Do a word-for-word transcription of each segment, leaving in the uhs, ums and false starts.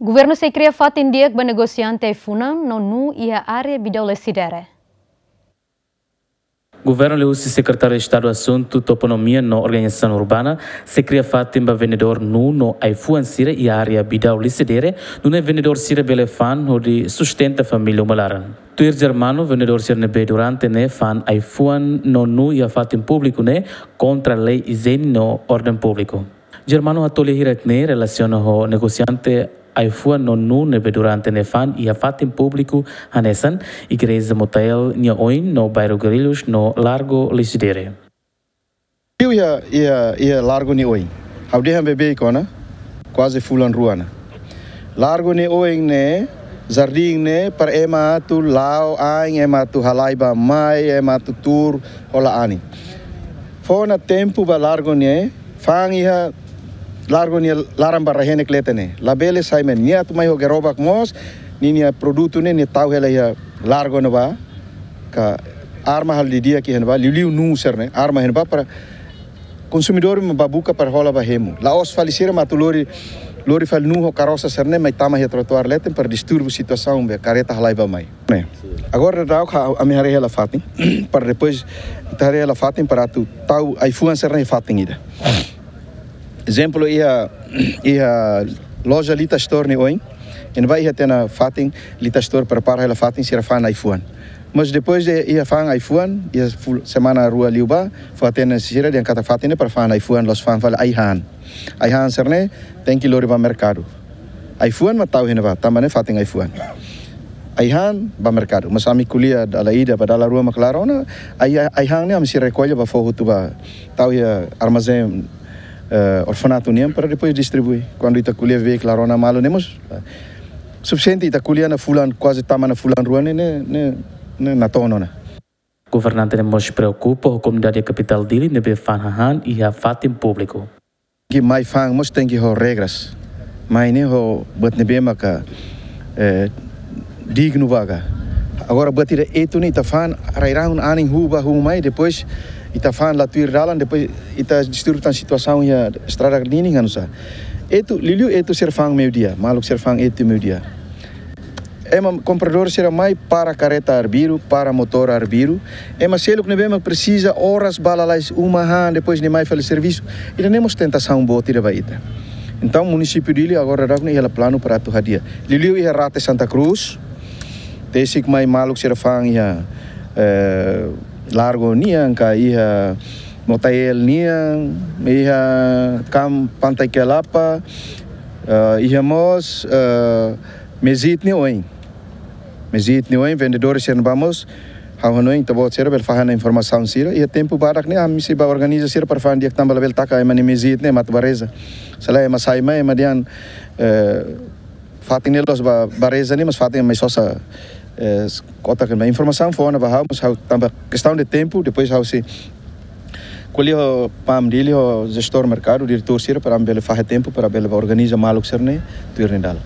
Governu sei kria fatin di'ak ba negosiante ai-funan no nuu iha área Bidau Lecidere. Governu liuhusi Sekretáriu Estadu Asuntu Toponímia no Organizasaun Urbana sei kria fatin ba vendedór nuu no ai-fuan sira iha área Bidau Lecidere, nune'e vendedór sira bele fa'an hodi sustenta família uma laran. Tuir Germano, vendedór sira ne'ebé durante ne'e fa'an ai-fuan no nuu iha fatin públiku ne'e kontra lei ijiene no orden públiku. Germano hato'o lia hirak ne'e relasiona ho negosiante ai-fuan no nuu ne'ebé durante ne'e fa'an iha fatin públiku hanesan igreja Motael nia oin no bairru Guarulhos no Largo Lecidere. Liu iha, iha, iha Largo nia oin. Ha'u dehan beibeik ona, kuaze fulan rua ona. Largo nia oin ne'e, jardín ne'e, para ema atu la'o ain, ema atu halai bá-mai, ema atu tuur, hola anin. Fó ona tempu ba Largo ne'e, fa'an iha Largo nia laran ba rai-henek leten ne'e. Labele sai mai, nia atu mai ho gerobak mós, ninia produtu ne'e, nia tau hela iha Largo ne'ebá, ka arma halo didi'ak iha ne'ebá, liuliu nuu sira-ne'e, arma iha ne'ebá para konsumidór mak bá buka para hola bá hemu. La'ós fali sira mak atu lori, lori fali nuu ho karosa sira-ne'e mai tama iha trotuár leten para distúrbiu situasaun be kareta halai bá-mai. Ne'e. Agora daudauk ha'u, ami haree hela fatin, para depois ita haree hela fatin para atu tau ai-fuan sira-ne'e fatin ida. Ezemplu iha, iha loja Lita Store nia oin, iha ne'ebá iha tiha ona fatin Lita Store prepara hela fatin sira fa'an ai-fuan. Mas depois de iha fa'an ai-fuan, iha ful-, semana rua liubá, fó-hatene sira dehan katak fatin ne'e para fa'an ai-fuan, la'ós fa'an fali ai-han. Ai-han sira-ne'e tenke lori bá merkadu. Ai-fuan mak tau iha ne'ebá, tanba ne'e fatin ai-fuan. Ai-han bá merkadu. Mas ami ko'alia dala ida, ba dala rua mak klaru ona, ai, ai-han ne'e ami sei rekolla bá fó hotu bá tau iha armazén, eh, orfanatu nian para depois distribui. Kuandu ita ko'alia beibeik klaru ona malu ne'e mós, eh, sufisiente ita ko'alia ona fulan, kuaze tama ona fulan rua ne'e, ne'e, ne'e, ne'e natoon ona. Governante ne'e mós preokupa ho komunidade kapitál Dili ne'ebé fa'an hahán iha fatin públiku. Ke mai fa'an mós tenke ho regras. Mai ne'e ho buat ne'ebé maka, eh, dignu ba ka. Agora buat ida etu ne'e ita fa'an rai-rahun anin huu bá huu mai, depois ita fa'an la tuir dalan, depois ita distúrbiu tan situasaun iha estrada ninin hanusá. Etu, liuliu etu sira fa'an meiudia, maluk sira fa'an etu meiudia. Ema kompradór sira mai para kareta arbiru, para motór arbiru. Ema seluk ne'ebé mak presiza oras bá lalais uma han, depois nia mai fali servisu. Ida-ne'e mós tentasaun boot ida ba ita. Entaun, munisípiu Dili agora daudauk ne'e iha hela planu para atu hadi'a. Liuliu iha rate Santa Cruz, tesik mai maluk sira fa'an iha, eh, Largo nian, ka iha Motael nian, iha Kam Pantai Kelapa, eh, iha mós, eh, Mezit nia oin. Mezit nia oin, vendedór sira-ne'ebá mós, ha'u hanoin ita-boot sira bele fahe ona informasaun sira, iha tempu badak ne'e, ami sei bá organiza sira para fa'an di'ak tanba labele taka ema nia mezit ne'e ema atu bá reza. Se lae ema sai mai, ema dehan, eh, fatin ne'e la'ós bá, bá reza ne'e, mas fatin ema mai sosa, eh, kota ke informasaun fó ona ba ha'u, mas ha'u tanba kestaun de tempu, depois ha'u sei ko'alia ho PAM Dili, ho jestór merkadu, diretór sira, para bele fahe tempu, para bele bá organiza maluk sira-ne'e, tuir nia dalan.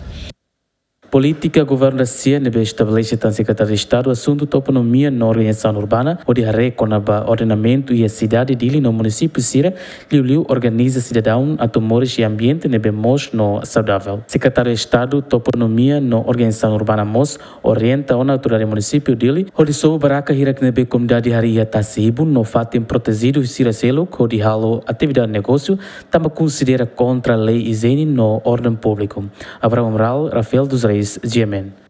Polítika governu da sia ne'ebé estabelese tan Sekretáriu Estadu Asuntu Toponímia no Organizasaun Urbana, hodi haree kona-ba ordenamentu iha sidade Dili no munisípiu sira, liuliu organiza sidadaun atu moris iha ambiente ne'ebé moos no saudavel. Sekretáriu Estadu Toponímia no Organizasaun Urbana mós orienta ona autoridade munisípiu Dili, hodi sobu barraka hirak ne'ebé komunidade harii iha tasi-ibun no fatin protejidu sira seluk, hodi halo atividade negósiu, tanba konsidera kontra lei ijiene no orden públiku. Abraham Amaral, Rafael dos Reis, G M N.